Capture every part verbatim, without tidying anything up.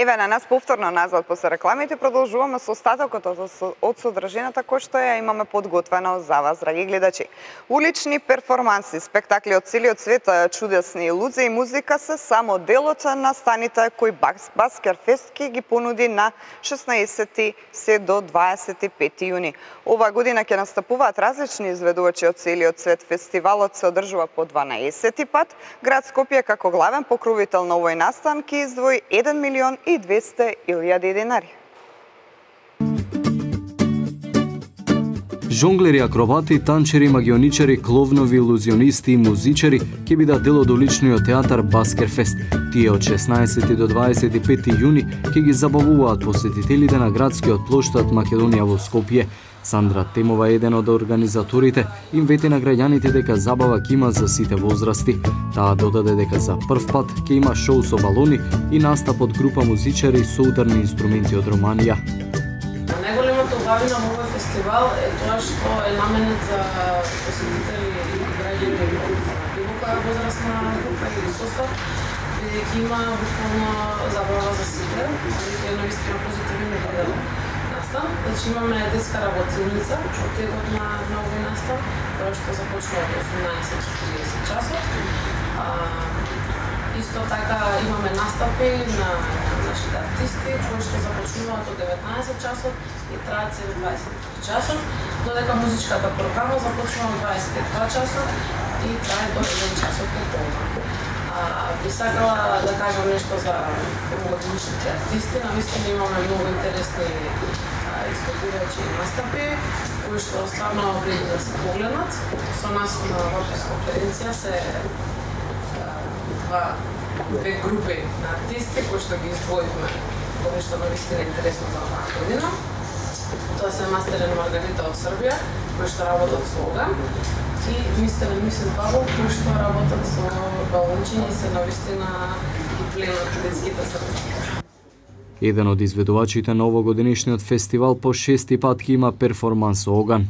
Еве на нас повторно назад после рекламите продолжуваме со остатокот од содржината кој што ја имаме подготвено за вас, драги гледачи. Улични перформанси, спектакли од целиот свет, чудесни луѓе и музика се само делот на станите кој Баскер Фест ќе ги понуди на шеснаесети се до дваесет и пети јуни. Ова година ќе настапуваат различни изведувачи од целиот свет. Фестивалот се одржува по дванаесети пат. Град Скопје како главен покровител на овој настан ќе издвои еден милион и двесте илјади денари. Жонглери, акробати, танчери, магионичари, кловнови, илузионисти и музичари ќе бидат дел од уличниот театар Баскер Фест. Тие од шеснаесети до дваесет и пети јуни ќе ги забавуваат посетителите на градскиот плоштад Македонија во Скопје. Сандра Темова е еден од организаторите, им вети на граѓаните дека забава ќе има за сите возрасти. Таа додаде дека за прв пат ќе има шоу со балони и настап од група музичари со ударни инструменти од Романија. Најголемата убавина во овој фестивал е тоа што е наменет за посетители и граѓани од било која возрастна група или состав, бидејќи има буквално забава за сите, и е навистина позитивен модел. Значи имаме детска работилница од текот на, на овој настан, која што започнува од осумнаесет до триесет часот. А, исто така имаме настапи на нашите артисти, кои што започнуваат од деветнаесет часот и траат се до дваесет и три часот, додека музичката програма започнува од дваесет и два часот и трае до еден часот пополна. Би сакала да кажам нешто за овогодишните артисти. Навистина имаме многу интересни изпитувачи и настапи, кои што стварно вреди да се погледнат. Со нас на оваа конференција се два, две групи на артисти кои што ги издвоивме во нешто навистина интересно за оваа година. Тоа се Мастер и Маргарита од Србија, кои што работат со оган, и мистер и мисис Павлов, кои што работат со балончиња и се навистина ги пленат детските срца. Еден од изведувачите на овогодинишниот фестивал по шести пат ќе има перформанс со оган.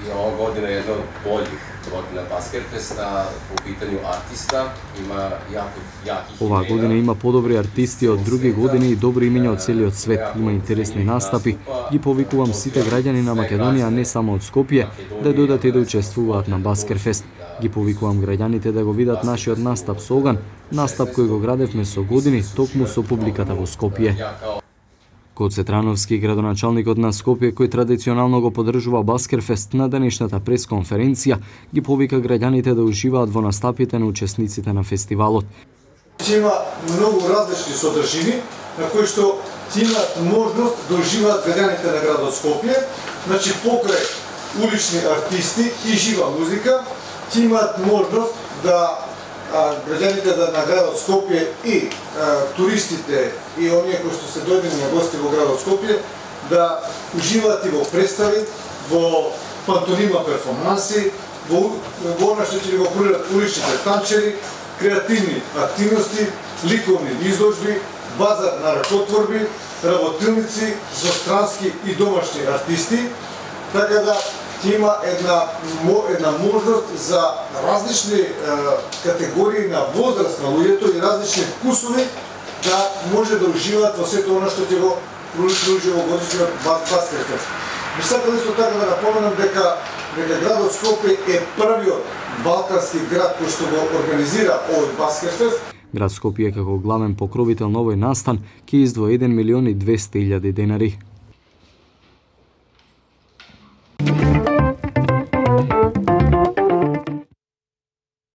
И ова година е едно од болјих година Баскер Фест, по питању артиста има јако јаки. Оваа година има подобри артисти од други години и добри имиња од целиот свет. Има интересни настапи. Ги повикувам сите граѓани на Македонија, не само од Скопје, да дојдат и да учествуваат на Баскер Фест. Ги повикувам граѓаните да го видат нашиот настап со оган, настап кој го градевме со години токму со публиката во Скопје. Гоце Трановски, градоначалникот на Скопје, кој традиционално го поддржува Баскер Фест, на денешната пресконференција ги повика граѓаните да уживаат во настапите на учесниците на фестивалот. Има многу различни содржини на кои што имаат можност да уживаат граѓаните на градот Скопје, значи покрај улични артисти и жива музика, имаат можност да граѓаните на градот Скопје и а, туристите и оние кои што се дојдени на гости во градот Скопје да уживаат и во представи, во пантонима перформанси, во, во она што ќе го прират уличните танчери, креативни активности, ликовни изложби, базар на ракотворби, работилници, зострански и домашни артисти, така да има една, една можност за различни е, категории на возраст на луѓето и различни вкусови да може да уживаат во сето она што ќе го пружи во годишниот Баскер Фест. Би сакал исто така да напоменам дека дека градот Скопје е првиот балкански град кој што го организира овој Баскер Фест. Град Скопје како главен покровител на овој настан ќе издвои еден милион и двесте илјади денари.